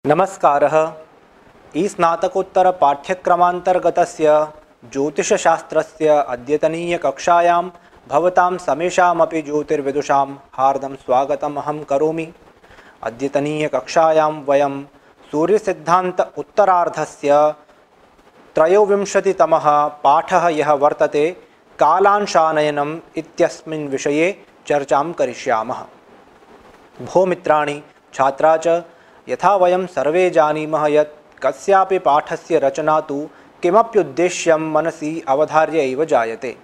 नमस्कारः। स्नातकोत्तर पाठ्यक्रमान्तर्गतस्य ज्योतिषशास्त्रस्य अद्यतनीयकक्षायां भवतां समेषामपि ज्योतिर्विदुषां हार्दं स्वागतम् अहं करोमि। अद्यतनीयकक्षायां वयं सूर्यसिद्धान्त उत्तरार्धस्य 23तमः पाठः यः वर्तते कालांशानयनम् इत्यस्मिन् विषये चर्चां करिष्यामः। भो मित्राणि, छात्रा च यथा वयं सर्वे जानीमः यत् कस्यापि पाठस्य रचना तु किमप्युद्देश्यं मनसि अवधार्य एव जायते।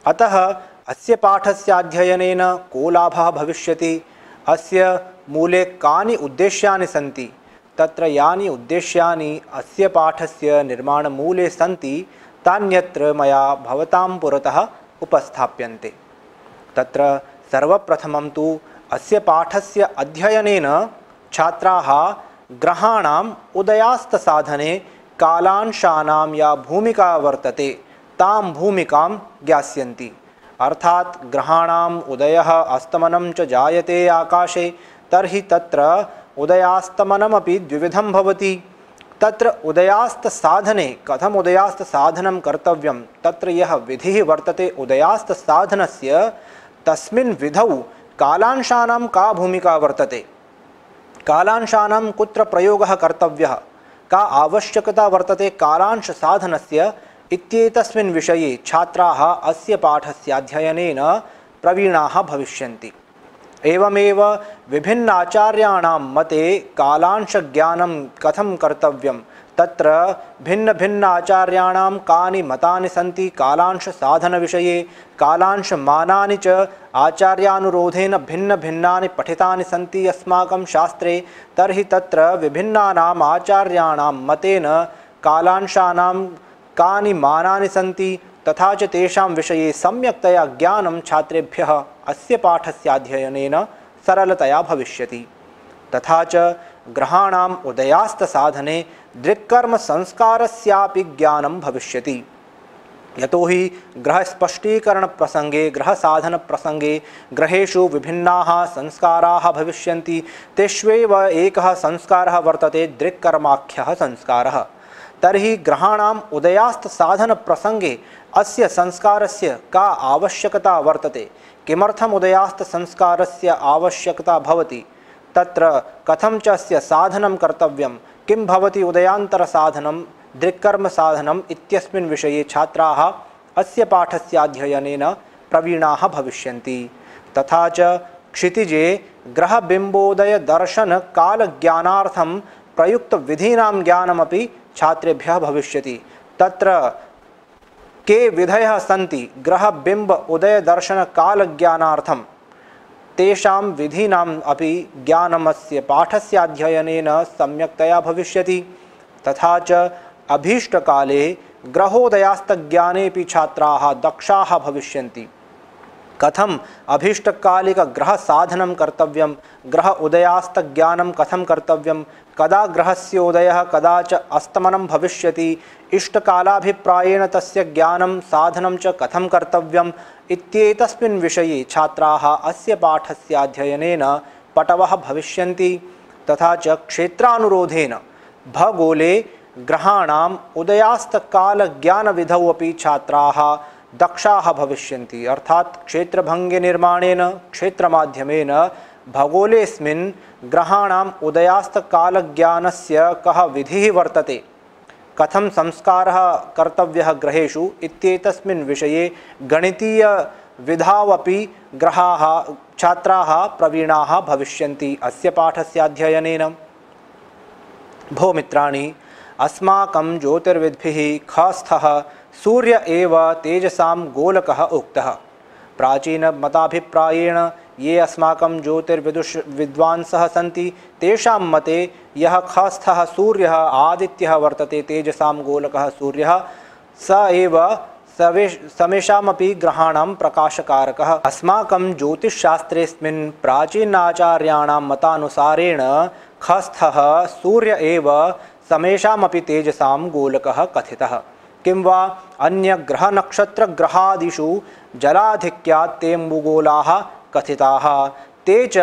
अतः अस्य पाठस्याध्ययनेन को लाभः भविष्यति, अस्य मूले कानि उद्देश्यानि सन्ति, तत्र यानि उद्देश्यानि अस्य पाठस्य निर्माणमूले सन्ति तान्यत्र मया भवतां पुरतः उपस्थाप्यन्ते। तत्र सर्वप्रथमं तु अस्य पाठस्य अध्ययनेन छात्राः ग्रहाणाम् उदयास्तसाधने कालांशानां या भूमिका वर्तते तां भूमिकां ज्ञास्यन्ति। अर्थात् ग्रहाणाम् उदयः अस्तमनं च जायते आकाशे, तर्हि तत्र उदयास्तमनमपि द्विविधं भवति। तत्र उदयास्तसाधने कथम् उदयास्तसाधनं कर्तव्यं, तत्र यः विधिः वर्तते उदयास्तसाधनस्य, तस्मिन् विधौ कालांशानां का भूमिका वर्तते, कालांशानां कुत्र प्रयोगः कर्तव्यः, का आवश्यकता वर्तते कालांश साधनस्य इत्येतस्मिन् विषये छात्राः अस्य पाठस्याध्ययनेन प्रवीणाः भविष्यन्ति। एवमेव विभिन्नाचार्याणां मते कालांशज्ञानं कथं कर्तव्यं, तत्र भिन्नभिन्नाचार्याणां कानि मतानि सन्ति कालांशसाधनविषये, कालांशमानानि च आचार्यानुरोधेन भिन्नभिन्नानि पठितानि सन्ति अस्माकं शास्त्रे। तर्हि तत्र विभिन्नानाम् आचार्याणां मतेन कालांशानां कानि मानानि सन्ति तथा च तेषां विषये सम्यक्तया ज्ञानं छात्रेभ्यः अस्य पाठस्याध्ययनेन सरलतया भविष्यति। तथा च ग्रहाणाम् उदयास्तसाधने दृक्कर्मसंस्कारस्यापि ज्ञानं भविष्यति। यतोहि ग्रहस्पष्टीकरणप्रसङ्गे, ग्रहसाधनप्रसङ्गे ग्रहेषु विभिन्नाः संस्काराः भविष्यन्ति। तेष्वेव एकः संस्कारः वर्तते दृक्कर्माख्यः संस्कारः। तर्हि ग्रहाणाम् उदयास्तसाधनप्रसङ्गे अस्य संस्कारस्य का आवश्यकता वर्तते, किमर्थम् उदयास्तसंस्कारस्य आवश्यकता भवति, तत्र कथं च अस्य साधनं कर्तव्यं, किं भवति उदयान्तरसाधनं, दृक्कर्मसाधनम् इत्यस्मिन् विषये छात्राः अस्य पाठस्याध्ययनेन प्रवीणाः भविष्यन्ति। तथा च क्षितिजे ग्रहबिम्बोदयदर्शनकालज्ञानार्थं प्रयुक्तविधीनां ज्ञानमपि छात्रेभ्यः भविष्यति। तत्र के विधयः सन्ति ग्रहबिम्ब उदयदर्शनकालज्ञानार्थं, तेषां विधीनाम् अपि ज्ञानमस्य पाठस्याध्ययनेन सम्यक्तया भविष्यति। तथा च अभीष्टकाले ग्रहोदयास्तज्ञानेपि छात्राः दक्षाः भविष्यन्ति। कथम् अभीष्टकालिकग्रहसाधनं कर्तव्यं, ग्रह उदयास्तज्ञानं कथं कर्तव्यं, कदा ग्रहस्य उदयः कदा च अस्तमनं भविष्यति, इष्टकालाभिप्रायेण तस्य ज्ञानं साधनं च कथं कर्तव्यम् इत्येतस्मिन् विषये छात्राः अस्य पाठस्याध्ययनेन पटवः भविष्यन्ति। तथा च क्षेत्रानुरोधेन भगोले ग्रहाणाम् उदयास्तकालज्ञानविधौ अपि छात्राः दक्षाः भविष्यन्ति। अर्थात् क्षेत्रभङ्गनिर्माणेन, क्षेत्रमाध्यमेन भगोलेऽस्मिन् ग्रहाणाम् उदयास्तकालज्ञानस्य कः विधिः वर्तते, कथं संस्कारः कर्तव्यः ग्रहेषु इत्येतस्मिन् विषये गणितीयविधावपि छात्राः प्रवीणाः भविष्यन्ति अस्य पाठस्याध्ययनेन। भो मित्राणि, अस्माकं ज्योतिर्विद्भिः खस्थः सूर्य एव तेजसां गोलकः उक्तः। प्राचीनमताभिप्रायेण ये अस्माकं ज्योतिर्विद्वांसः सन्ति तेषां मते यः खस्थः सूर्यः आदित्यः वर्तते, तेजसां गोलकः सूर्यः, स एव समेषामपि ग्रहाणां प्रकाशकारकः। अस्माकं ज्योतिषशास्त्रेऽस्मिन् प्राचीनाचार्याणां मतानुसारेण खस्थः सूर्य एव समेषामपि तेजसां गोलकः कथितः। किं वा अन्यग्रहनक्षत्रग्रहादिषु जलाधिक्यात् तेऽम्बुगोलाः कथिताः, ते च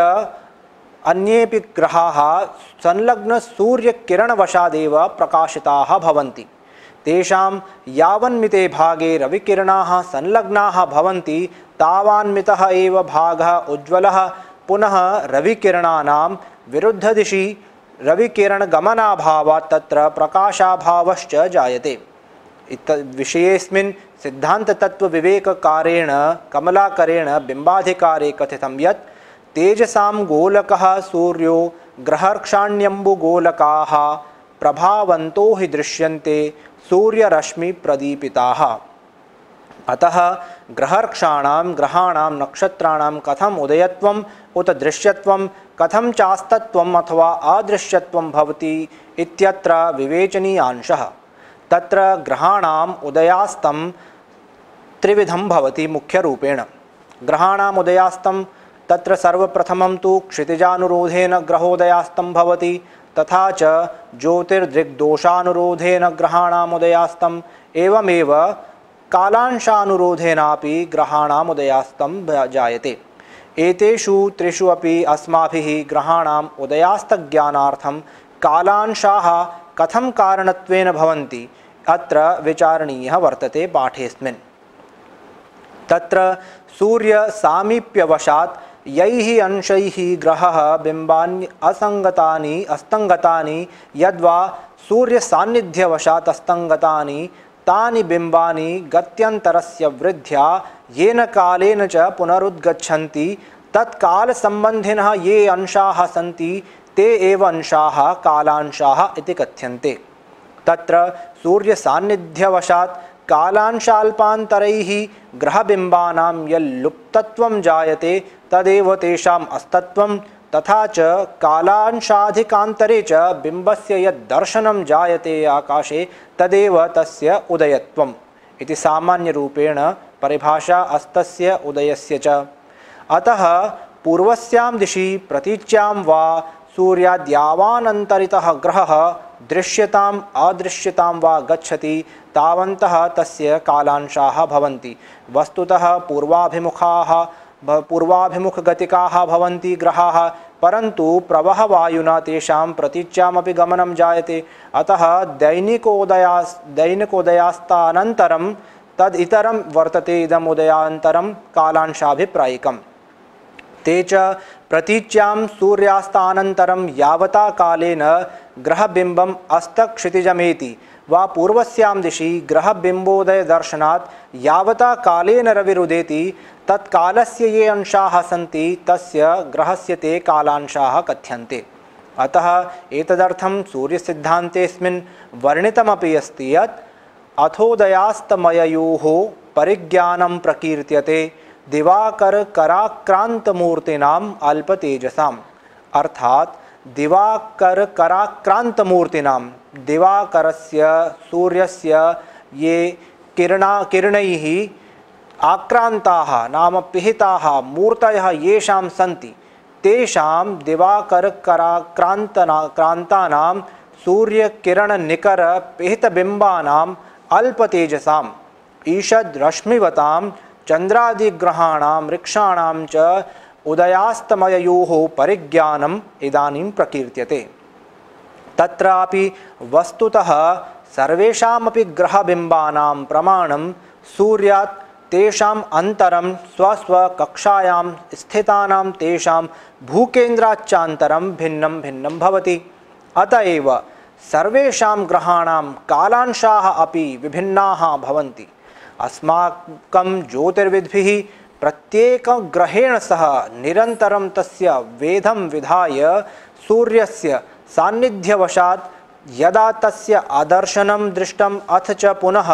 अन्येपि ग्रहाः संलग्नसूर्यकिरणवशादेव प्रकाशिताः भवन्ति। तेषां यावन्मिते भागे रविकिरणाः संलग्नाः भवन्ति तावान्मितः एव भागः उज्ज्वलः। पुनः रविकिरणानां विरुद्धदिशि रविकिरणगमनाभावात् तत्र प्रकाशाभावश्च जायते। विषयेऽस्मिन् सिद्धान्ततत्त्वविवेककारेण कमलाकरेण बिम्बाधिकारे कथितं यत् तेजसां गोलकः सूर्यो ग्रहर्क्षाण्यम्बुगोलकाः प्रभावन्तो हि दृश्यन्ते सूर्यरश्मिप्रदीपिताः। अतः ग्रहाणां नक्षत्राणां कथम उदयत्वम् उत दृश्यत्वं कथम चास्तत्वम् अथवा अदृश्यत्वं भवति इत्यत्र विवेचनीयांशः। तत्र ग्रहाणाम् उदयास्तं त्रिविधं भवति मुख्यरूपेण। ग्रहाणाम् उदयास्तं तत्र सर्वप्रथमं तु क्षितिजानुरोधेन ग्रहोदयास्तं भवति, तथा च ज्योतिर्दृग्दोषानुरोधेन ग्रहाणाम् उदयास्तं, एवमेव कालांशानुरोधेनापि ग्रहाणाम् उदयास्तं जायते। एतेषु त्रिषु अपि अस्माभिः ग्रहाणाम् उदयास्तज्ञानार्थं कालांशाः कथं कारणत्वेन भवन्ति अत्र विचारणीयः वर्तते पाठेऽस्मिन्। तत्र सूर्यसामीप्यवशात् यैः अंशैः ग्रहः बिम्बानि असङ्गतानि अस्तङ्गतानि यद्वा सूर्यसान्निध्यवशात् अस्तङ्गतानि तानि बिम्बानि गत्यन्तरस्य वृद्ध्या येन कालेन च पुनरुद्गच्छन्ति तत्कालसम्बन्धिनः ये अंशाः सन्ति ते एव अंशाः कालांशाः इति कथ्यन्ते। तत्र सूर्यसान्निध्यवशात् कालांशाल्पान्तरैः ग्रहबिम्बानां यल्लुप्तत्वं जायते तदेव तेषाम् अस्तत्वं, तथा च कालांशाधिकान्तरे च बिम्बस्य यद्दर्शनं जायते आकाशे तदेव तस्य उदयत्वम् इति सामान्यरूपेण परिभाषा अस्तस्य उदयस्य च। अतः पूर्वस्यां दिशि प्रतीच्यां वा सूर्याद्यावानन्तरितः ग्रहः दृश्यताम् अदृश्यतां वा गच्छति तावन्तः तस्य कालांशाः भवन्ति। वस्तुतः पूर्वाभिमुखगतिकाः भवन्ति ग्रहाः, परन्तु प्रवाहवायुना तेषां प्रतीच्यामपि गमनं जायते। अतः दैनिकोदयास्तानन्तरं तदितरं वर्तते इदम् उदयान्तरं कालांशाभिप्रायिकम्। ते च प्रतीच्यां सूर्यास्तानन्तरं यावता कालेन ग्रहबिम्बम् अस्तक्षितिजमेति वा पूर्वस्यां दिशि ग्रहबिम्बोदयदर्शनात् यावता कालेन रविरुदेति तत्कालस्य ये अंशाः सन्ति तस्य ग्रहस्य ते कालांशाः कथ्यन्ते। अतः एतदर्थं सूर्यसिद्धान्तेऽस्मिन् वर्णितमपि अस्ति यत् अथोदयास्तमययोः परिज्ञानं प्रकीर्त्यते दिवाकरकराक्रान्तमूर्तीनाम् अल्पतेजसाम्। अर्थात् दिवाकरकराक्रान्तमूर्तीनां दिवाकरस्य सूर्यस्य ये किरणैः आक्रान्ताः नाम पिहिताः मूर्तयः येषां सन्ति तेषां दिवाकरकराक्रान्तानां सूर्यकिरणनिकरपिहितबिम्बानाम् अल्पतेजसाम् ईषद्रश्मिवतां चन्द्रादिग्रहाणां वृक्षाणां च उदयास्तमययोः परिज्ञानम् इदानीं प्रकीर्त्यते। तत्रापि वस्तुतः सर्वेषामपि ग्रहबिम्बानां प्रमाणं सूर्यात् तेषाम् अन्तरं स्वस्वकक्षायां स्थितानां तेषां भूकेन्द्राच्चान्तरं भिन्नं भिन्नं भवति। अत एव सर्वेषां ग्रहाणां कालांशाः अपि विभिन्नाः भवन्ति। अस्माकं ज्योतिर्विद्भिः प्रत्येकग्रहेण सह निरन्तरं तस्य वेधं विधाय सूर्यस्य सान्निध्यवशात् यदा तस्य अदर्शनं दृष्टम् अथ च पुनः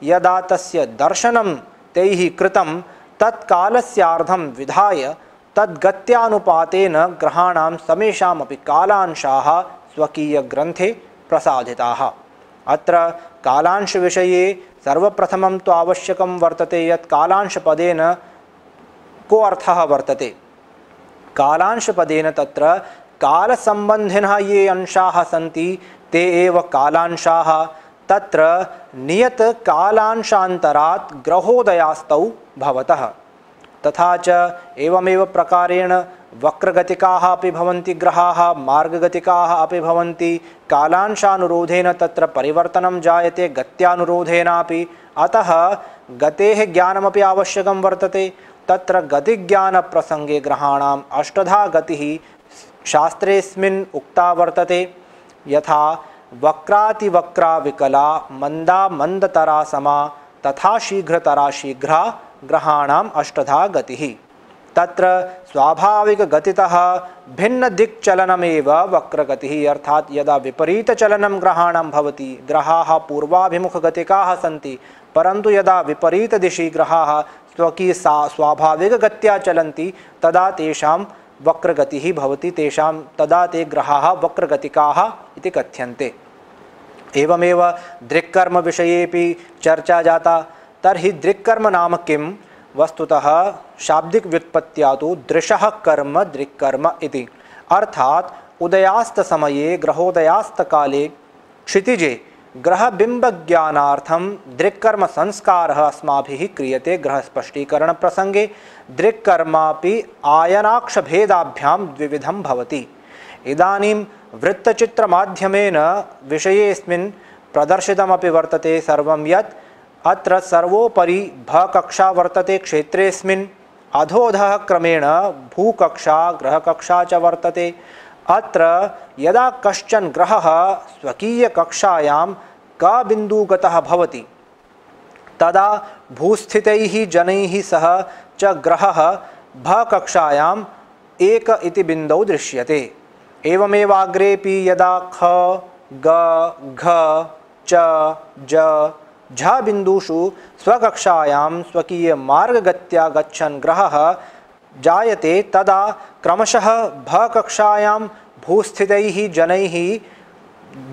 यदा तस्य दर्शनं तैः कृतं तत्कालस्यार्धं विधाय तद्गत्यानुपातेन ग्रहाणां समेषामपि कालांशाः स्वकीयग्रन्थे प्रसादिताः। अत्र कालांशविषये सर्वप्रथमं तु आवश्यकं वर्तते यत् कालांशपदेन को अर्थः वर्तते। कालांशपदेन तत्र कालसम्बन्धिनः ये अंशाः सन्ति ते एव कालांशाः। तत्र नियतकालांशान्तरात् ग्रहोदयास्तौ भवतः। तथा च एवमेव प्रकारेण वक्रगतिकाः अपि भवन्ति ग्रहाः, मार्गगतिकाः अपि भवन्ति। कालांशानुरोधेन तत्र परिवर्तनं जायते, गत्यानुरोधेनापि। अतः गतेः ज्ञानमपि आवश्यकं वर्तते। तत्र गतिज्ञानप्रसङ्गे ग्रहाणाम् अष्टधा गतिः शास्त्रेऽस्मिन् उक्ता वर्तते। यथा वक्रातिवक्रा विकला, मंदा मंदतरा समा, तथा शीघ्रतरा शीघ्रा ग्रहाणाम् अष्टधा गतिः। तत्र स्वाभाविकगतितः भिन्नदिक्चलनमेव वक्रगतिः, अर्थात् यदा विपरीतचलनं ग्रहाणां भवति, ग्रहाः पूर्वाभिमुखगतिकाः सन्ति, परन्तु यदा विपरीतदिशि ग्रहाः स्वाभाविकगत्या चलन्ति तदा तेषां वक्रगतिः भवति, तदा ते ग्रहाः वक्रगतिकाः इति कथ्यन्ते। एवमेव दृक्कर्म विषयेपि चर्चा जाता। तर्हि दृक्कर्म नाम किं? वस्तुतः शाब्दिक व्युत्पत्त्या तु दृशः कर्म दृक्कर्म इति, अर्थात् उदयास्तसमये ग्रहोदयास्तकाले क्षितिजे ग्रहबिम्बज्ञानार्थं दृक्कर्म संस्कारः अस्माभिः क्रियते। ग्रहस्पष्टीकरणप्रसङ्गे दृक्कर्मापि आयनाक्षभेदाभ्यां द्विविधं भवति। इदानीं वृत्तचित्रमाध्यमेन विषयेऽस्मिन् प्रदर्शितमपि वर्तते सर्वं यत् अत्र सर्वोपरि भकक्षा वर्तते क्षेत्रेऽस्मिन्, अधोऽधः क्रमेण भूकक्षा ग्रहकक्षा च वर्तते। अत्र यदा कश्चन ग्रहः स्वकीयकक्षायां कबिन्दुगतः भवति तदा भूस्थितैः जनैः सह च ग्रहः भकक्षायाम् एक इति बिन्दौ दृश्यते। एवमेव अग्रेपि यदा ख ग घ च ज झ बिन्दुषु स्वकक्षायां स्वकीयमार्गगत्या गच्छन् ग्रहः जायते तदा क्रमशः भकक्षायां भूस्थितैः जनैः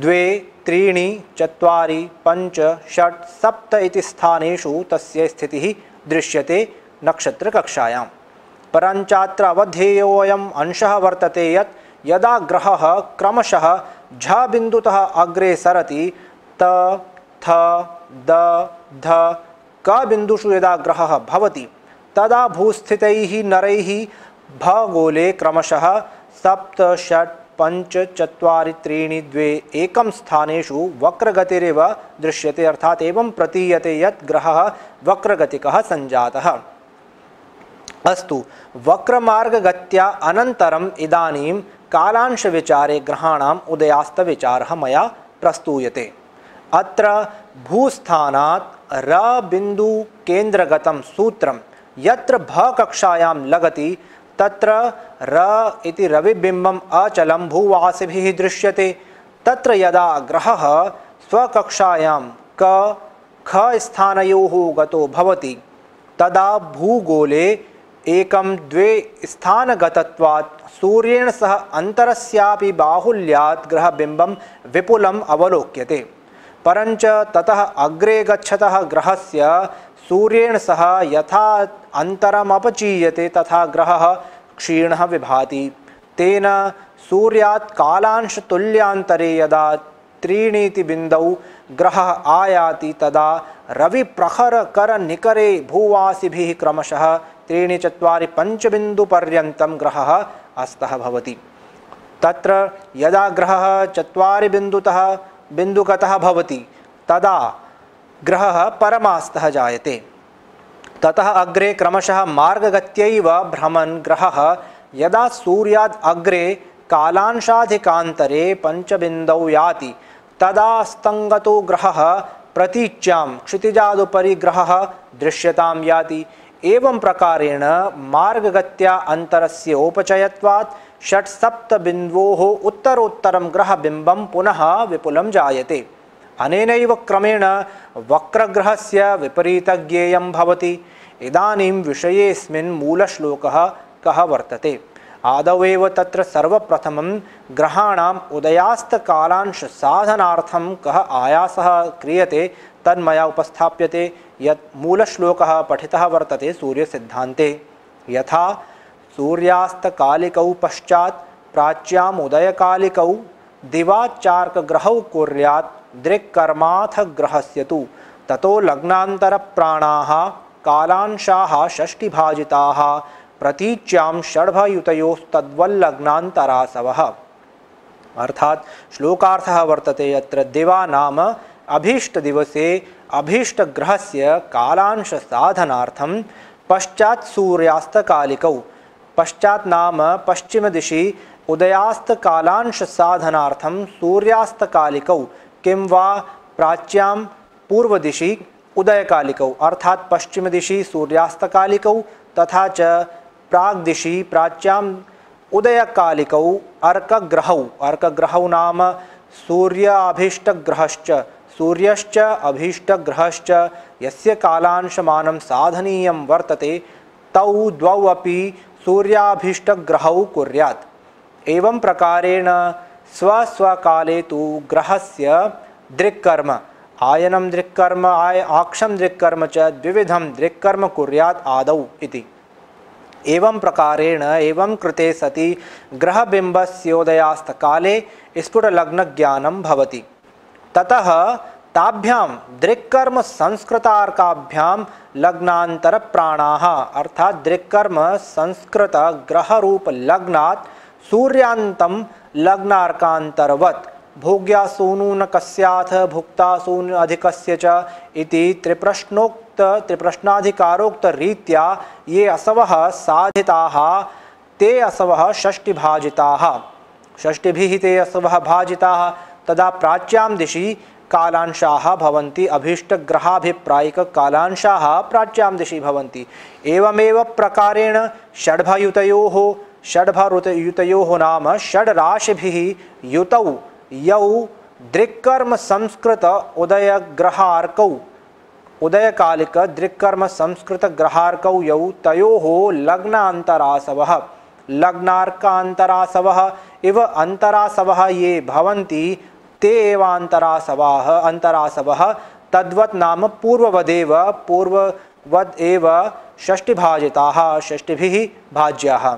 2, 3, 4, 5, 6, 7 इति स्थानेषु तस्य स्थितिः दृश्यते नक्षत्रकक्षायां। परञ्चात्र अवधेयोऽयम् अंशः वर्तते यत् यदा ग्रहः क्रमशः झ बिन्दुतः अग्रे सरति त थ द ध क बिन्दुषु यदा ग्रहः भवति तदा भूस्थितैः नरैः भगोले क्रमशः 7, 6, 5, 4, 3, 2, 1 स्थानेषु वक्रगतिरेव दृश्यते, अर्थात् एवं प्रतीयते यत् ग्रहः वक्रगतिकः सञ्जातः। अस्तु, वक्रमार्गगत्या अनन्तरम् इदानीं कालांशविचारे ग्रहाणाम् उदयास्तविचारः मया प्रस्तूयते। अत्र भूस्थानात् र बिन्दु केन्द्रगतं सूत्रं यत्र भकक्षायां लगति तत्र र इति रविबिम्बम् अचलं भूवासिभिः दृश्यते। तत्र यदा ग्रहः स्वकक्षायां क ख स्थानयोः गतो भवति तदा भूगोले 1, 2 स्थानगतत्वात् सूर्येण सह अन्तरस्यापि बाहुल्यात् ग्रहबिम्बं विपुलम् अवलोक्यते। परञ्च ततः अग्रे गच्छतः ग्रहस्य सूर्येण सह यथा अन्तरमपचीयते तथा ग्रहः क्षीणः विभाति। तेन सूर्यात् कालांशतुल्यान्तरे यदा 3 इति बिन्दौ ग्रहः आयाति तदा रविप्रखरकरनिकरे भूवासिभिः क्रमशः 3, 4, 5 बिन्दुपर्यन्तं ग्रहः अस्तः भवति। तत्र यदा ग्रहः 4 बिन्दुगतः भवति तदा ग्रहः परमास्तः जायते। ततः अग्रे क्रमशः मार्गगत्यैव भ्रमन् ग्रहः यदा सूर्याद् अग्रे कालांशाधिकान्तरे 5 बिन्दौ याति तदा स्तङ्गतो ग्रहः प्रतीच्यां क्षितिजादुपरि ग्रहः दृश्यतां याति। एवं प्रकारेण मार्गगत्या अन्तरस्य औपचयत्वात् 6-7 बिन्दवोः उत्तरोत्तरं ग्रहबिम्बं पुनः विपुलं जायते। अनेनैव क्रमेण वक्रग्रहस्य विपरीतज्ञेयं भवति। इदानीं विषयेऽस्मिन् मूलश्लोकः कः वर्तते? आदौ एव तत्र सर्वप्रथमं ग्रहाणाम् उदयास्तकालांश साधनार्थं कः आयासः क्रियते तन्मया उपस्थाप्यते। यत् मूलश्लोकः पठितः वर्तते सूर्यसिद्धान्ते। यथा सूर्यास्तकालिकौ पश्चात् प्राच्याम् उदयकालिकौ दिवाचार्कग्रहौ कुर्यात् दृक्कर्माथ ग्रहस्य तु ततो लग्नान्तरप्राणाः कालांशाः षष्टिभाजिताः प्रतीच्यां षड्भयुतयोस्तद्वल्लग्नान्तरासवः। अर्थात श्लोकार्थः वर्तते यत्र दिवा नाम अभीष्टदिवसे अभीष्टग्रहस्य कालांशसाधनार्थं पश्चात् सूर्यास्तकालिकौ, पश्चात् नाम पश्चिमदिशि उदयास्तकालांशसाधनार्थं सूर्यास्तकालिकौ किं वा प्राच्यां पूर्वदिशि उदयकालिकौ, अर्थात पश्चिमदिशि सूर्यास्तकालिकौ तथा च प्राग्दिशि प्राच्यां उदयकालिकौ अर्कग्रहौ, अर्कग्रहौ नाम सूर्याभीष्टग्रहश्च सूर्यश्च अभीष्टग्रहश्च यस्य कालांशमानं साधनीयं वर्तते तौ द्वौ अपि सूर्याभीष्टग्रहौ कुर्यात्। एवं प्रकारेण स्वस्वकाले तु ग्रहस्य दृक्कर्म आयनं दृक्कर्म आक्षं दृक्कर्म च द्विविधं दृक्कर्म कुर्यात् आदौ इति। एवं प्रकारेण एवं कृते सति ग्रहबिम्बस्योदयास्तकाले स्फुटलग्नज्ञानं भवति। ततः ताभ्यां दृक्कर्म संस्कृतार्काभ्यां लग्नान्तरप्राणाः अर्थात दृक्कर्म संस्कृत ग्रहरूप लग्नात् सूर्यान्तं लग्नार्कान्तरवत् भोग्यासूनुनकस्याथ भुक्तासून अधिकस्य च इति त्रिप्रश्नाधिकारोक्त रीत्या ये असवः साधिताः ते असवः षष्टिभाजिताः, षष्टिभिः ते असवः भाजिताः। तदा प्राच्यां दिशि कालांशाः भवन्ति, अभीष्टग्रहाभिप्रायिक कालांशाः प्राच्यां दिशि भवन्ति। एवमेव प्रकारेण षड्भयुतयोः नाम षड्राशिभिः युतौ यौ दृक्कर्म संस्कृत उदयग्रहार्कौ उदयकालिक दृक्कर्म संस्कृत ग्रहार्कौ यौ तयोः लग्नान्तरासवः लग्नार्कान्तरासवः इव अंतरासवः ये भवन्ति ते एव अंतरासवः तद्वत् नाम पूर्ववद् एव षष्टिभाजिताः षष्टिभिः भाज्याः।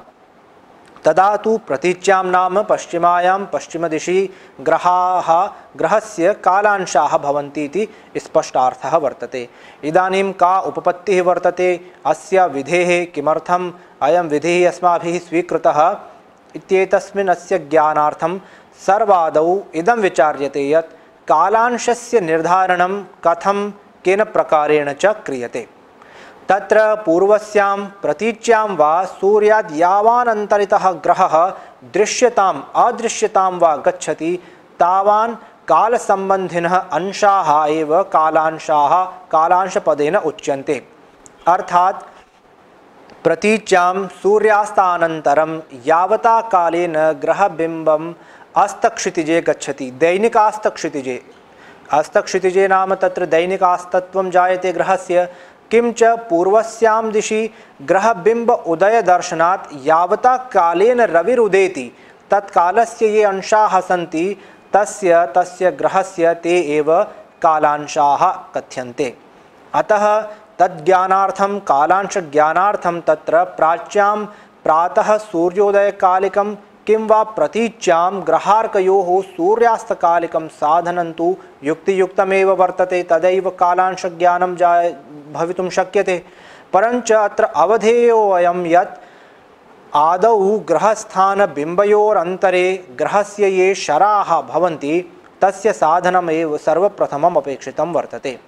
तदा तु प्रतीच्यां नाम पश्चिमायां पश्चिमदिशि ग्रहस्य कालांशाः भवन्ति इति स्पष्टार्थः वर्तते। इदानीं का उपपत्तिः वर्तते अस्य विधेः, किमर्थम् अयं विधिः अस्माभिः स्वीकृतः इत्येतस्मिन् अस्य ज्ञानार्थं सर्वादौ इदं विचार्यते यत् कालांशस्य निर्धारणं कथं केन प्रकारेण च क्रियते। तत्र पूर्वस्यां प्रतीच्यां वा सूर्याद् यावान् अन्तरितः ग्रहः दृश्यताम् अदृश्यतां वा गच्छति तावान् कालसम्बन्धिनः अंशाः एव कालांशाः कालांशपदेन उच्यन्ते। अर्थात् प्रतीच्यां सूर्यास्तानन्तरं यावता कालेन ग्रहबिम्बम् अस्तक्षितिजे गच्छति, दैनिकास्तक्षितिजे, अस्तक्षितिजे नाम तत्र दैनिकास्तत्वं जायते ग्रहस्य। किंच पूर्वस्यां दिशि ग्रहबिम्ब उदयदर्शनात् यावता कालेन रविरुदेति तत्कालस्य ये अंशाः सन्ति तस्य ग्रहस्य ते एव कालांशाः कथ्यन्ते। अतः तद्ज्ञानार्थं कालांशज्ञानार्थं तत्र प्राच्यां प्रातः सूर्योदयकालिकं किं वा प्रतीच्यां ग्रहार्कयोः सूर्यास्तकालिकं साधनं तु युक्तियुक्तमेव वर्तते, तदैव कालांशज्ञानं भवितुं शक्यते। परञ्च अत्र अवधेयोऽयं यत् आदौ ग्रहस्थानबिम्बयोरन्तरे ग्रहस्य ये शराः भवन्ति तस्य साधनमेव सर्वप्रथमम् अपेक्षितं वर्तते।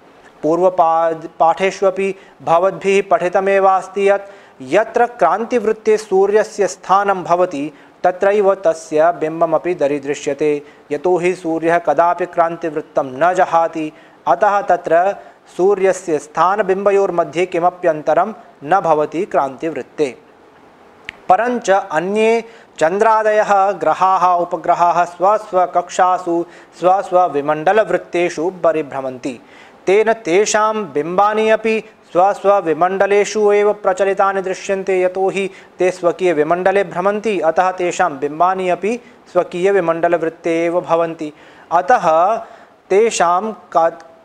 पूर्वपाठेष्वपि भवद्भिः पठितमेवास्ति यत् यत्र क्रान्तिवृत्ते सूर्यस्य स्थानं भवति तत्रैव तस्य बिम्बमपि दरीदृश्यते, यतोहि सूर्यः कदापि क्रान्तिवृत्तं न जहाति। अतः तत्र सूर्यस्य स्थानबिम्बयोर्मध्ये किमप्यन्तरं न भवति क्रान्तिवृत्ते। परञ्च अन्ये चन्द्रादयः ग्रहाः उपग्रहाः स्वस्वकक्षासु स्वस्वविमण्डलवृत्तेषु परिभ्रमन्ति। तेन तेषां बिम्बानि अपि स्वस्वविमण्डलेषु एव प्रचलितानि दृश्यन्ते, यतोहि ते स्वकीयविमण्डले भ्रमन्ति। अतः तेषां बिम्बानि अपि स्वकीयविमण्डलवृत्ते एव भवन्ति। अतः तेषां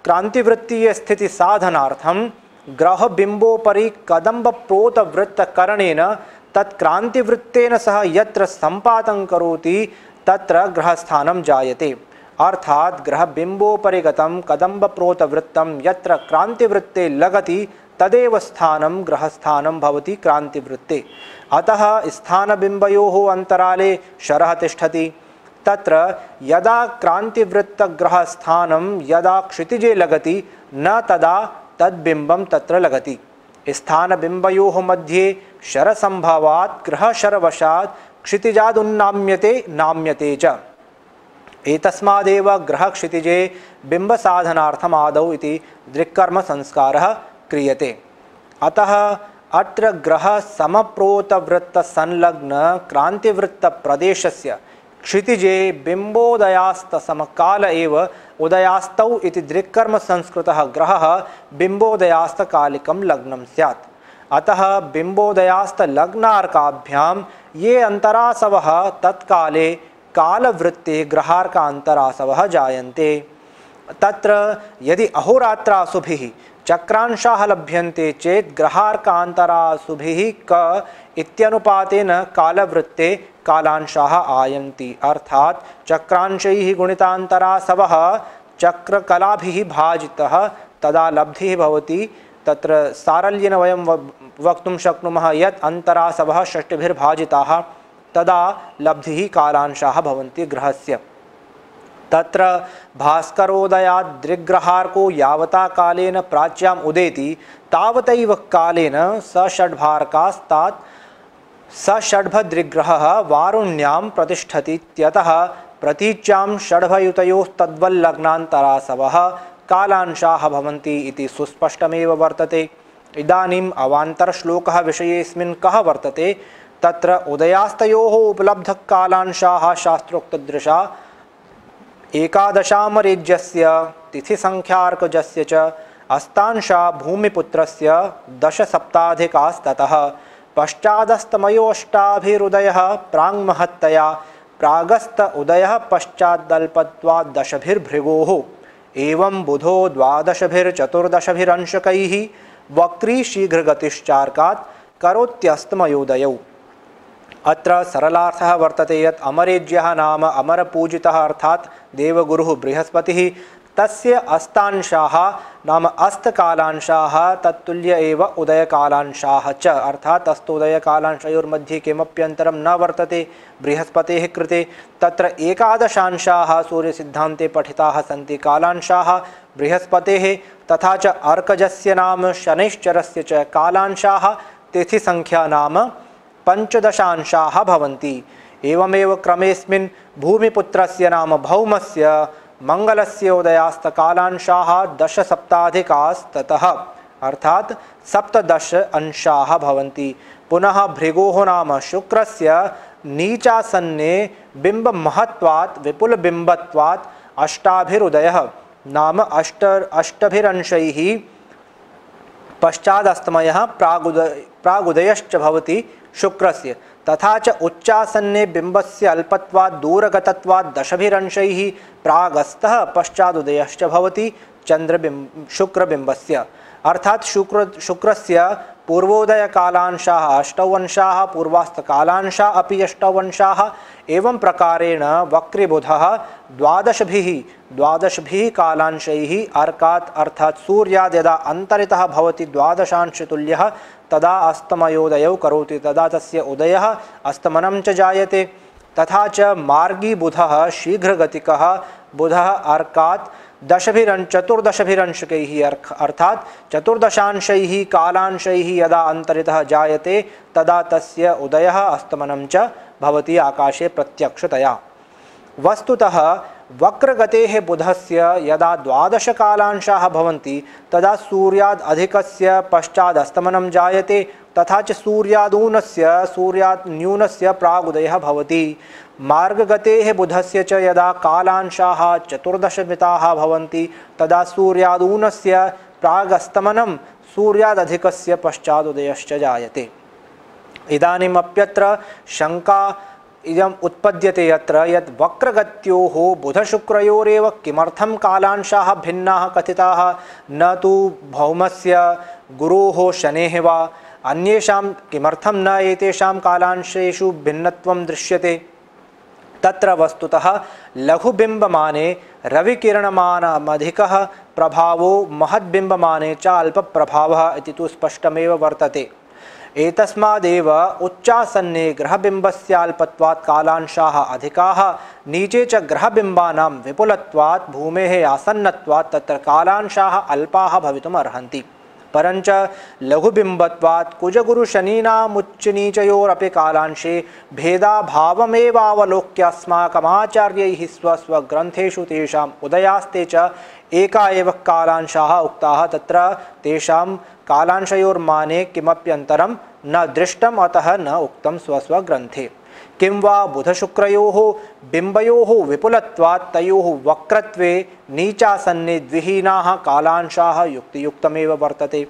क्रान्तिवृत्तीयस्थितिसाधनार्थं ग्रहबिम्बोपरि कदम्बप्रोतवृत्तकरणेन तत्क्रान्तिवृत्तेन सह यत्र सम्पातं करोति तत्र ग्रहस्थानं जायते। अर्थात् ग्रहबिम्बोपरि गतं कदम्बप्रोतवृत्तं यत्र क्रान्तिवृत्ते लगति तदेव स्थानं ग्रहस्थानं भवति क्रान्तिवृत्ते। अतः स्थानबिम्बयोः अन्तराले शरः तिष्ठति। तत्र यदा क्रान्तिवृत्तग्रहस्थानं यदा क्षितिजे लगति न तदा तद्बिम्बं तत्र लगति। स्थानबिम्बयोः मध्ये शरसम्भवात् ग्रहशरवशात् क्षितिजादुन्नाम्यते नाम्यते च। एतस्मादेव ग्रहक्षितिजे बिम्बसाधनार्थम् आदौ इति दृक्कर्म संस्कारः क्रियते। अतः अत्र ग्रहसमप्रोतवृत्तसंलग्न क्रान्तिवृत्तप्रदेशस्य क्षितिजे बिम्बोदयास्तसमकाल एव उदयास्तौ इति दृक्कर्म संस्कृतः ग्रहः बिम्बोदयास्तकालिकं लग्नं स्यात्। अतः बिम्बोदयास्तलग्नार्काभ्यां ये अन्तरासवः तत्काले कालवृत्ते ग्रहार्कान्तरासवः जायन्ते। तत्र यदि अहोरात्रासुभिः चक्रांशाः लभ्यन्ते चेत् ग्रहार्कान्तरासुभिः क इत्यनुपातेन कालवृत्ते कालांशाः आयन्ति। अर्थात् चक्रांशैः गुणितान्तरासवः चक्रकलाभिः भाजितः तदा लब्धिः भवति। तत्र सारल्येन वयं वक्तुं शक्नुमः यत् अन्तरासवः षष्टिभिर्भाजिताः तदा लब्धिः कालांशाः भवन्ति ग्रहस्य। तत्र भास्करोदयात् दृग्ग्रहार्को यावता कालेन प्राच्याम् उदेति तावतैव कालेन सषड्भार्कास्तात् सषड्भदृग्ग्रहः वारुण्यां प्रतिष्ठतीत्यतः प्रतीच्यां षड्भयुतयोस्तद्वल्लग्नान्तरासवः कालांशाः भवन्ति इति सुस्पष्टमेव वर्तते। इदानीम् अवान्तरश्लोकः विषयेऽस्मिन् कः वर्तते? तत्र उदयास्तयोः उपलब्धकालांशाः शास्त्रोक्तदृशा एकादशामरेज्यस्य तिथिसंख्यार्कजस्य च अस्तांशा भूमिपुत्रस्य 10 सप्ताधिकास्ततः पश्चादस्तमयोष्टाभिरुदयः प्राङ्महत्तया प्रागस्त उदयः पश्चादल्पत्वात् 10भिर्भृगोः एवं बुधो 12भिर्चतुर्दशभिरंशकैः वक्री शीघ्रगतिश्चार्कात् करोत्यस्तमयोदयौ। अत्र सरलार्थः वर्तते यत् अमरेज्यः नाम अमरपूजितः अर्थात् देवगुरुः बृहस्पतिः तस्य अस्तांशाः नाम अस्तकालांशाः तत्तुल्य एव उदयकालांशाः च अर्थात् अस्तोदयकालांशयोर्मध्ये किमप्यन्तरं न वर्तते बृहस्पतेः कृते। तत्र एकादशांशाः सूर्यसिद्धान्ते पठिताः सन्ति कालांशाः बृहस्पतेः तथा च अर्कजस्य नाम शनैश्चरस्य च कालांशाः तिथिसंख्या नाम 15 भवन्ति। एवमेव क्रमेऽस्मिन् भूमिपुत्रस्य नाम भौमस्य मंगलस्य उदयास्तकालांशाः 10 सप्ताधिकास्ततः अर्थात् 17 अंशाः भवन्ति। पुनः भृगोः नाम शुक्रस्य नीचासन्ने बिम्बमहत्वात् विपुलबिम्बत्वात् अष्टाभिरुदयः नाम अष्टभिरंशैः पश्चादस्तमयः प्रागुदयश्च भवति शुक्रस्य। तथा च उच्चासन्ने बिम्बस्य अल्पत्वात् दूरगतत्वात् 10भिरंशैः प्रागस्तः पश्चादुदयश्च भवति शुक्रबिम्बस्य। अर्थात् शुक्रस्य पूर्वोदयकालांशाः 8 अंशाः पूर्वास्तकालांशाः अपि 8 अंशाः। एवं प्रकारेण वक्रीबुधः 12 कालांशैः अर्कात् अर्थात् सूर्याद् यदा अन्तरितः भवति 12अंशतुल्यः तदा अस्तमयोदयौ करोति तदा तस्य उदयः अस्तमनं च जायते। तथा च मार्गी बुधः शीघ्रगतिकः बुधः अर्कात् 14भिरंशकैः अर्थात् 14 कालांशैः यदा अन्तरितः जायते तदा तस्य उदयः अस्तमनं च भवति आकाशे प्रत्यक्षतया। वस्तुतः वक्रगतेः बुधस्य यदा 12 कालांशाः भवन्ति तदा सूर्याद् अधिकस्य पश्चादस्तमनं जायते तथा च सूर्यात् न्यूनस्य प्रागुदयः भवति। मार्गगतेः बुधस्य च यदा कालांशाः 14 भवन्ति तदा सूर्यादूनस्य प्रागस्तमनं सूर्यादधिकस्य पश्चादुदयश्च जायते। इदानीमप्यत्र शङ्का इदम् उत्पद्यते यत्र यत् वक्रगत्योः बुधशुक्रयोरेव किमर्थं कालांशाः भिन्नाः कथिताः न तु भौमस्य गुरोः शनेः वा अन्येषां किमर्थं न एतेषां कालांशेषु भिन्नत्वं दृश्यते। तत्र वस्तुतः लघुबिम्बमाने रविकिरणमानमधिकः प्रभावो महद्बिम्बमाने च अल्पप्रभावः इति तु स्पष्टमेव वर्तते। एतस्मादेव उच्चासन्ने ग्रहबिम्बस्याल्पत्वात् कालांशाः अधिकाः, नीचे च ग्रहबिम्बानां विपुलत्वात् भूमेः आसन्नत्वात् तत्र कालांशाः अल्पाः भवितुम् अर्हन्ति। परञ्च लघुबिम्बत्वात् कुजगुरुशनीनामुच्चनीचयोरपि कालांशे भेदाभावमेवावलोक्य अस्माकमाचार्यैः स्वस्वग्रन्थेषु तेषाम् उदयास्ते च एका एव कालांशाः उक्ताः। तत्र तेषां कालांशयोर्माने किमप्यन्तरं न दृष्टम्, अतः न उक्तं स्वस्वग्रन्थे। किं वा बुधशुक्रयोः बिम्बयोः विपुलत्वात् तयोः वक्रत्वे नीचासन्ने द्विहीनाः कालांशाः युक्तियुक्तमेव वर्तते।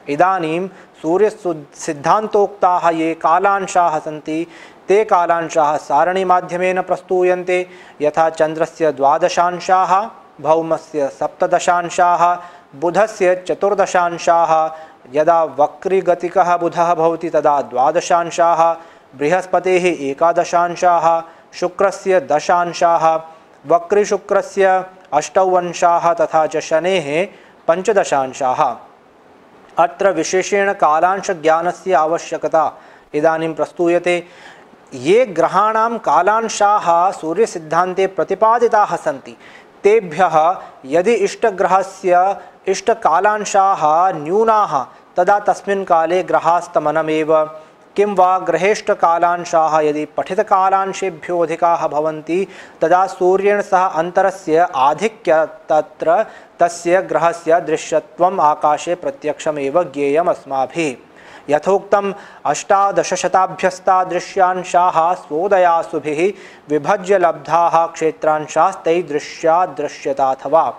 इदानीं सूर्यसिद्धान्तोक्ताः ये कालांशाः सन्ति ते कालांशाः सारणीमाध्यमेन प्रस्तूयन्ते। यथा चन्द्रस्य 12 अंशाः, भौमस्य 17 बुधस्य 14 यदा वक्रीगतिकः बुधः भवति तदा 12 बृहस्पतेः 11 शुक्रस्य 10 वक्रीशुक्रस्य 8 तथा च शनेः 15 अत्र विशेषेण कालांशज्ञानस्य आवश्यकता इदानीं प्रस्तूयते। ये ग्रहाणां कालांशाः सूर्यसिद्धान्ते प्रतिपादिताः सन्ति तेभ्यः यदि इष्टग्रहस्य इष्टकालांशाः न्यूनाः तदा तस्मिन् काले ग्रहास्तमनमेव। किं वा ग्रहेष्टकालांशाः यदि पठितकालांशेभ्यो अधिकाः भवन्ति तदा सूर्येण सह अन्तरस्य आधिक्य तत्र तस्य ग्रहस्य दृश्यत्वम् आकाशे प्रत्यक्षमेव ज्ञेयम् अस्माभिः। यथोक्तम् 18 शताभ्यस्तादृश्यांशाः स्वोदयासुभिः विभज्य लब्धाः क्षेत्रांशास्तैदृश्या दृश्यताथवा।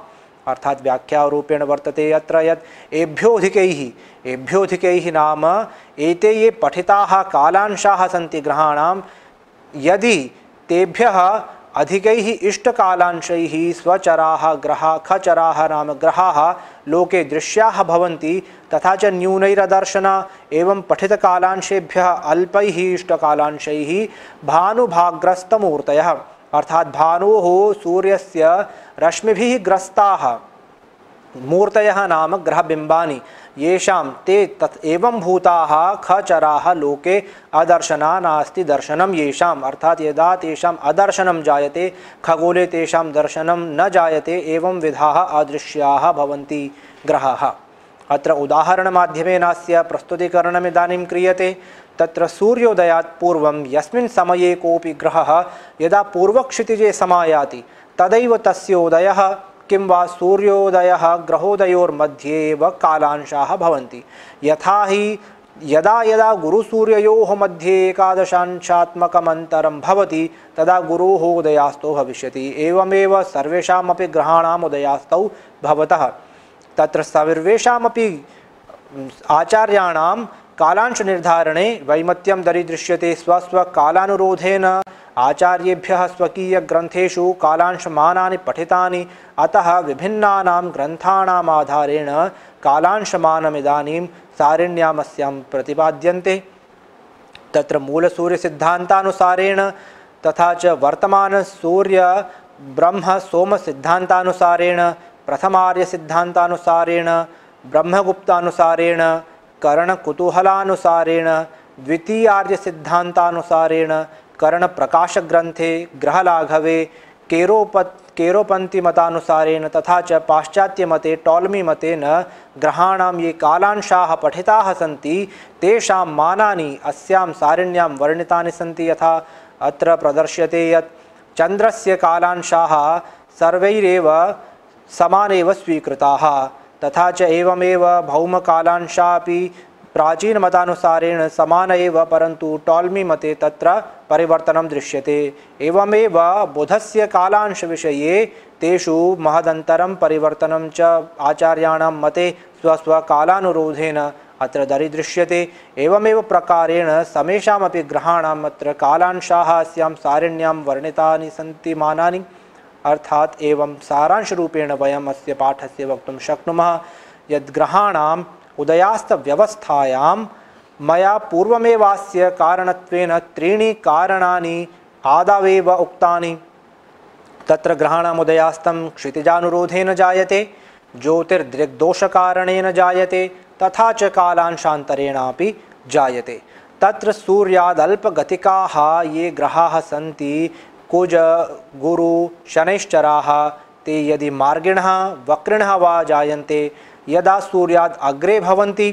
अर्थात व्याख्यारूपेण वर्तते यत्र यत् एभ्योऽधिकैः नाम एते ये पठिताः कालांशाः सन्ति ग्रहाणां, यदि तेभ्यः अधिकैः इष्टकालांशैः स्वचराः ग्रहाः खचराः नाम ग्रहाः लोके दृश्याः भवन्ति तथा च न्यूनैरदर्शन एवं पठितकालांशेभ्यः अल्पैः इष्टकालांशैः भानुभाग्रस्तमूर्तयः अर्थात भानोः सूर्यस्य रश्मिभिः ग्रस्ताः मूर्तयः नाम ग्रहबिम्बानि येषां ते तत् एवं भूताः खचराः लोके अदर्शना नास्ति दर्शनं येषाम् अर्थात यदा तेषाम् अदर्शनं जायते खगोले तेषां दर्शनं न जायते एवं विधाः अदृश्याः भवन्ति ग्रहाः। अत्र उदाहरणमाध्यमेनास्य प्रस्तुतीकरणमिदानीं क्रियते। तत्र सूर्योदयात् पूर्वं यस्मिन् समये कोऽपि ग्रहः यदा पूर्वक्षितिजे समायाति तदैव तस्य उदयः किं वा सूर्योदयः ग्रहोदयोर्मध्ये एव कालांशाः भवन्ति। यथा हि यदा यदा गुरुसूर्ययोः मध्ये 11 भवति तदा गुरोः उदयास्तो भविष्यति। एवमेव सर्वेषामपि ग्रहाणाम् उदयास्तौ भवतः। तत्र सर्वेषामपि आचार्याणां कालांश निर्धारणे वैमत्यं दरीदृश्यते। स्वस्वकालानुरोधेन आचार्येभ्यः स्वकीयग्रन्थेषु कालांशमानानि पठितानि, अतः विभिन्नानां ग्रन्थानाम् आधारेण कालांशमानमिदानीं सारिण्यामस्यां प्रतिपाद्यन्ते। तत्र मूलसूर्यसिद्धान्तानुसारेण तथा च वर्तमानसूर्य ब्रह्म सोमसिद्धान्तानुसारेण, प्रथमार्यसिद्धान्तानुसारेण, ब्रह्मगुप्तानुसारेण, करणकुतूहलानुसारेण, द्वितीयार्यसिद्धान्तानुसारेण, करणप्रकाशग्रन्थे, ग्रहलाघवे, केरोपन्तिमतानुसारेण तथा च पाश्चात्यमते टॉलमीमतेन ग्रहाणां ये कालांशाः पठिताः सन्ति तेषां मानानि अस्यां सारिण्यां वर्णितानि सन्ति। यथा अत्र प्रदर्श्यते यत् चन्द्रस्य कालांशाः सर्वैरेव समानेव स्वीकृताः, तथा च एवमेव भौमकालांशापि प्राचीनमतानुसारेण समान एव, परन्तु टॉलमी मते तत्र परिवर्तनं दृश्यते। एवमेव बुधस्य कालांशविषये तेषु महदन्तरं परिवर्तनं च आचार्याणां मते स्वस्वकालानुरोधेन अत्र दरीदृश्यते। एवमेव प्रकारेण समेषामपि ग्रहाणाम् अत्र कालांशाः अस्यां सारिण्यां वर्णितानि सन्ति मानानि। अर्थात एवं सारांशरूपेण वयम् अस्य पाठस्य वक्तुं शक्नुमः यद् ग्रहाणां उदयास्तव्यवस्थायां मया पूर्वमेवास्य कारणत्वेन त्रीणि कारणानि आदावेव उक्तानि। तत्र ग्रहाणामुदयास्तं क्षितिजानुरोधेन जायते, ज्योतिर्दृग्दोषकारणेन जायते, तथा च कालांशान्तरेणापि जायते। तत्र सूर्यादल्पगतिकाः ये ग्रहाः सन्ति, कुज गुरु शनैश्चराः, ते यदि मार्गिणः वक्रिणः वा जायन्ते, यदा सूर्याद् अग्रे भवन्ति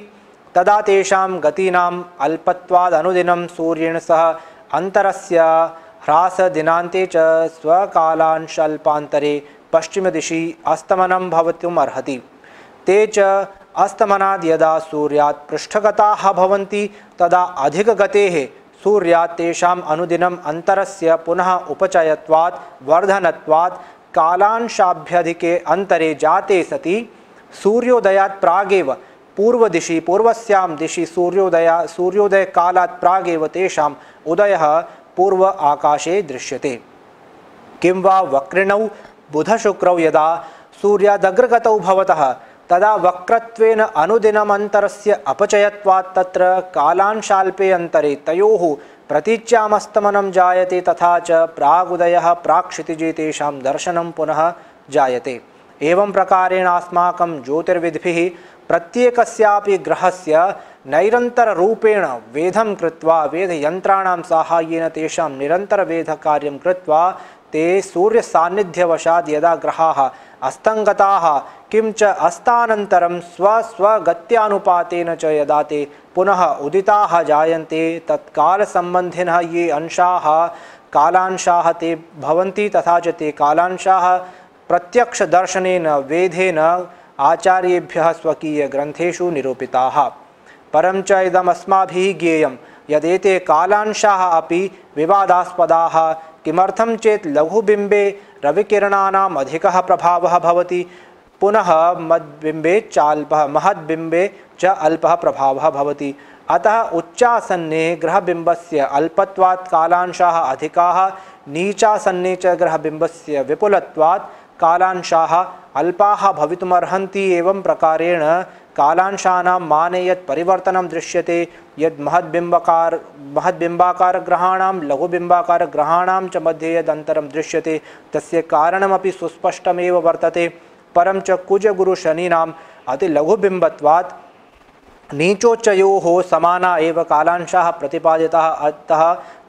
तदा तेषां गतीनाम् अल्पत्वादनुदिनं सूर्येण सह अन्तरस्य ह्रासदिनान्ते च स्वकालांशाल्पान्तरे पश्चिमदिशि अस्तमनं भवितुम् अर्हति। ते च अस्तमनाद् यदा सूर्यात् पृष्ठगताः भवन्ति तदा अधिकगतेः सूर्यात् तेषाम् अनुदिनम् अन्तरस्य पुनः उपचयत्वात् वर्धनत्वात् कालांशाभ्यधिके अन्तरे जाते सति सूर्योदयात् प्रागेव पूर्वदिशि पूर्वस्यां दिशि सूर्योदयकालात् प्रागेव तेषाम् उदयः पूर्व आकाशे दृश्यते। किं वा वक्रिणौ बुधशुक्रौ यदा सूर्यादग्रगतौ भवतः तदा वक्रत्वेन अनुदिनमन्तरस्य अपचयत्वात् तत्र कालांशाल्पे अन्तरे तयोः प्रतीच्यामस्तमनं जायते, तथा च प्रागुदयः प्राक्क्षितिजे तेषां दर्शनं पुनः जायते। एवं प्रकारेण अस्माकं ज्योतिर्विद्भिः प्रत्येकस्यापि ग्रहस्य नैरन्तररूपेण वेधं कृत्वा वेदयन्त्राणां साहाय्येन तेषां निरन्तरवेधकार्यं कृत्वा ते सूर्यसान्निध्यवशात् यदा ग्रहाः अस्तङ्गताः किं च अस्तानन्तरं स्वस्वगत्यानुपातेन च यदा ते पुनः उदिताः जायन्ते तत्कालसम्बन्धिनः ये अंशाः कालांशाः ते भवन्ति, तथा च ते कालांशाः प्रत्यक्षदर्शनेन वेधेन आचार्येभ्यः स्वकीयग्रन्थेषु निरूपिताः। परं च इदमस्माभिः ज्ञेयं यदेते कालांशाः अपि विवादास्पदाः। किमर्थं चेत् लघुबिम्बे रविकिरणानाम् अधिकः प्रभावः भवति, पुनः महद्बिम्बे च अल्पः प्रभावः भवति। अतः उच्चासन्ने ग्रहबिम्बस्य अल्पत्वात् कालांशाः अधिकाः, नीचासन्ने च ग्रहबिम्बस्य विपुलत्वात् कालांशाः अल्पाः भवितुमर्हन्ति। एवं प्रकारेण कालांशानां माने यत् परिवर्तनं दृश्यते, यद् महद्बिम्बाकारग्रहाणां लघुबिम्बाकारग्रहाणां च मध्ये यद् अन्तरं दृश्यते तस्य कारणमपि सुस्पष्टमेव वर्तते। परं च कुजगुरुशनीनाम् अतिलघुबिम्बत्वात् नीचोच्चयोः समाना एव कालांशाः प्रतिपादिताः। अतः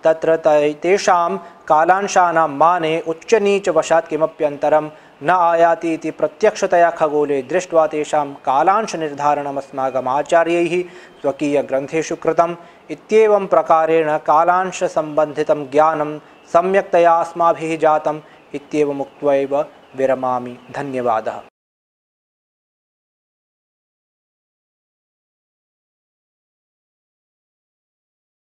तत्र तेषां कालांशानां माने उच्चनीचवशात् किमप्यन्तरं न आयाति इति प्रत्यक्षतया खगोले दृष्ट्वा तेषां कालांशनिर्धारणम् अस्माकम् आचार्यैः स्वकीयग्रन्थेषु कृतम्। इत्येवं प्रकारेण कालांशसम्बन्धितं ज्ञानं सम्यक्तया अस्माभिः जातम् इत्येवमुक्त्वा एव विरमामि। धन्यवादः।